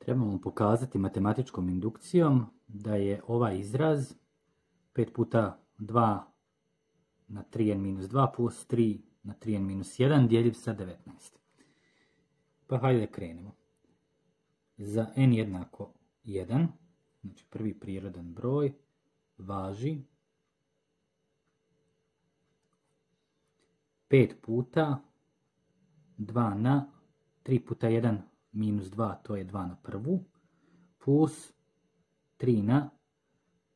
Trebamo pokazati matematičkom indukcijom da je ovaj izraz 5 puta 2 na 3n-2 plus 3 na 3n-1 dijeljiv sa 19. Pa hajde da krenemo. Za n jednako 1, znači prvi prirodan broj, važi 5 puta 2 na 3 puta 1 minus 2, to je 2 na prvu, plus 3 na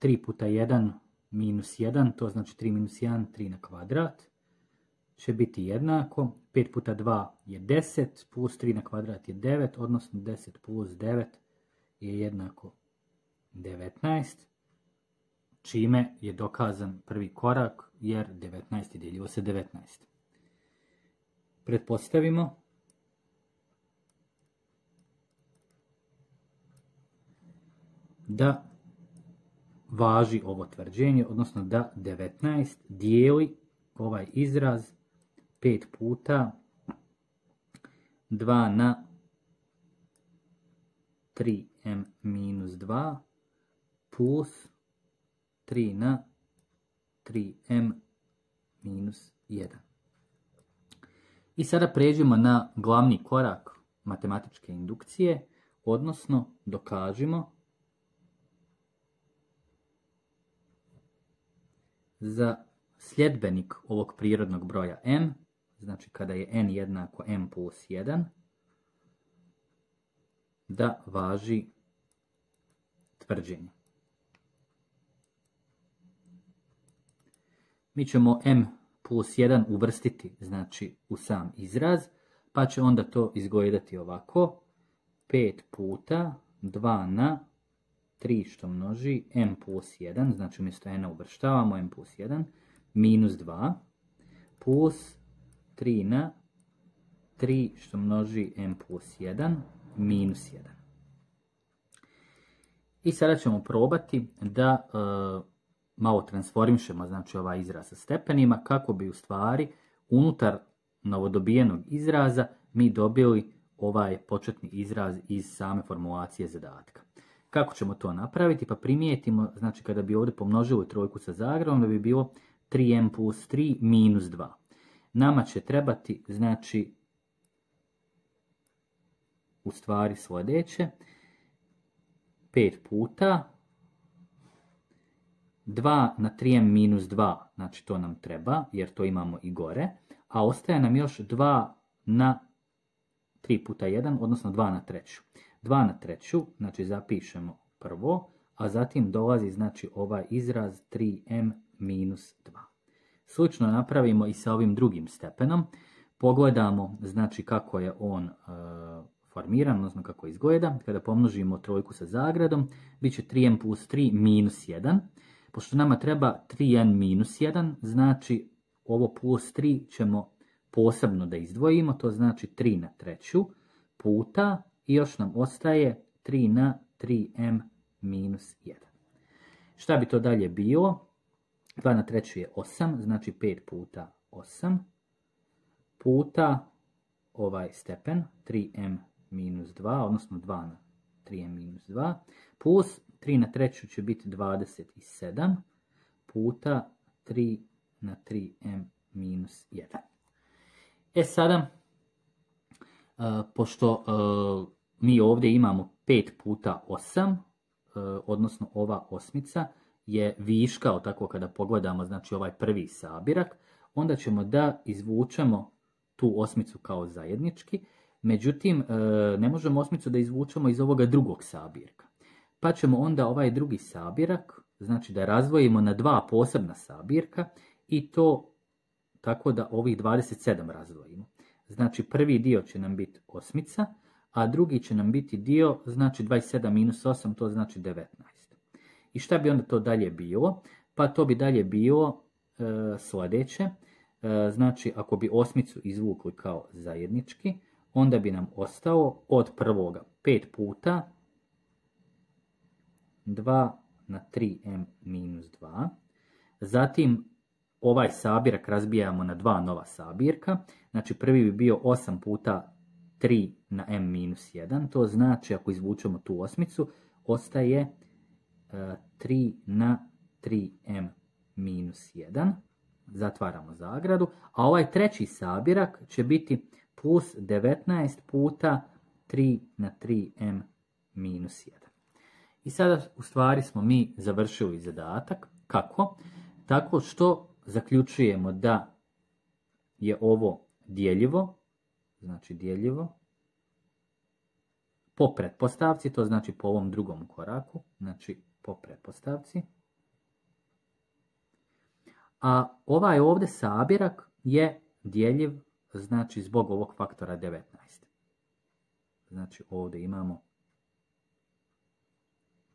3 puta 1 minus 1, to znači 3 minus 1, 3 na kvadrat, će biti jednako, 5 puta 2 je 10, plus 3 na kvadrat je 9, odnosno 10 plus 9 je jednako 19, čime je dokazan prvi korak, jer 19 je dijeljivo sa 19. Pretpostavimo da važi ovo tvrđenje, odnosno da 19 dijeli ovaj izraz 5 puta 2 na 3m-2 plus 3 na 3m-1. I sada pređemo na glavni korak matematičke indukcije, odnosno dokažimo za sljedbenik ovog prirodnog broja m, znači kada je n jednako m plus 1, da važi tvrđenje. Mi ćemo m plus 1 uvrstiti, znači, u sam izraz, pa će onda to izgledati ovako. 5 puta 2 na 3 što množi m plus 1, znači umjesto n uvrštavamo m plus 1, minus 2, plus 3 na 3 što množi m plus 1, minus 1. I sada ćemo probati da malo transformišemo, znači, ovaj izraz sa stepenima, kako bi u stvari unutar novodobijenog izraza mi dobili ovaj početni izraz iz same formulacije zadatka. Kako ćemo to napraviti? Pa primijetimo, znači, kada bi ovdje pomnožili trojku sa zagradom, da bi bilo 3m plus 3 minus 2. Nama će trebati, znači, u stvari sljedeće, 5 puta 2 na 3m minus 2, znači to nam treba, jer to imamo i gore, a ostaje nam još 2 na 3 puta 1, odnosno 2 na treću. 2 na treću, znači zapišemo prvo, a zatim dolazi, znači, ovaj izraz 3m minus 2. Slično napravimo i sa ovim drugim stepenom. Pogledamo, znači, kako je on formiran, odnosno kako izgleda. Kada pomnožimo trojku sa zagradom, bit će 3m plus 3 minus 1. Pošto nama treba 3n minus 1, znači ovo plus 3 ćemo posebno da izdvojimo, to znači 3 na treću puta i još nam ostaje 3 na 3m minus 1. Šta bi to dalje bilo? 2 na treću je 8, znači 5 puta 8 puta ovaj stepen 3m minus 2, odnosno 2 na 3m minus 2, plus 3 na treću će biti 27 puta 3 na 3m minus 1. E sada, pošto mi ovdje imamo 5 puta 8, odnosno ova osmica je viška, tako kada pogledamo, znači, ovaj prvi sabirak, onda ćemo da izvučemo tu osmicu kao zajednički, međutim, ne možemo osmicu da izvučemo iz ovoga drugog sabirka. Pa ćemo onda ovaj drugi sabirak, znači, da razdvojimo na dva posebna sabirka i to tako da ovih 27 razdvojimo. Znači, prvi dio će nam biti osmica, a drugi će nam biti dio, znači 27 minus 8, to znači 19. I šta bi onda to dalje bilo? Pa to bi dalje bilo sljedeće. Znači, ako bi osmicu izvukli kao zajednički, onda bi nam ostalo od prvoga 5 puta 2 na 3m minus 2. Zatim ovaj sabirak razbijamo na dva nova sabirka. Znači, prvi bi bio 8 puta 3 na m minus 1. To znači, ako izvučemo tu osmicu, ostaje 3 na 3m minus 1. Zatvaramo zagradu. A ovaj treći sabirak će biti plus 19 puta 3 na 3m minus 1. I sada u stvari smo mi završili zadatak. Kako? Tako što zaključujemo da je ovo dijeljivo, znači dijeljivo po pretpostavci, to znači po ovom drugom koraku, znači po pretpostavci. A ovaj ovdje sabirak je dijeljiv, znači zbog ovog faktora 19. Znači ovdje imamo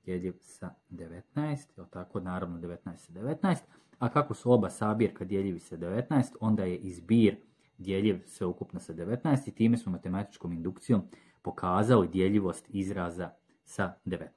dijeljiv sa 19, tako naravno 19 sa 19, a kako su oba sabirka dijeljivi sa 19, onda je i zbir dijeljiv sveukupno sa 19 i time smo matematičkom indukcijom pokazali dijeljivost izraza sa 19.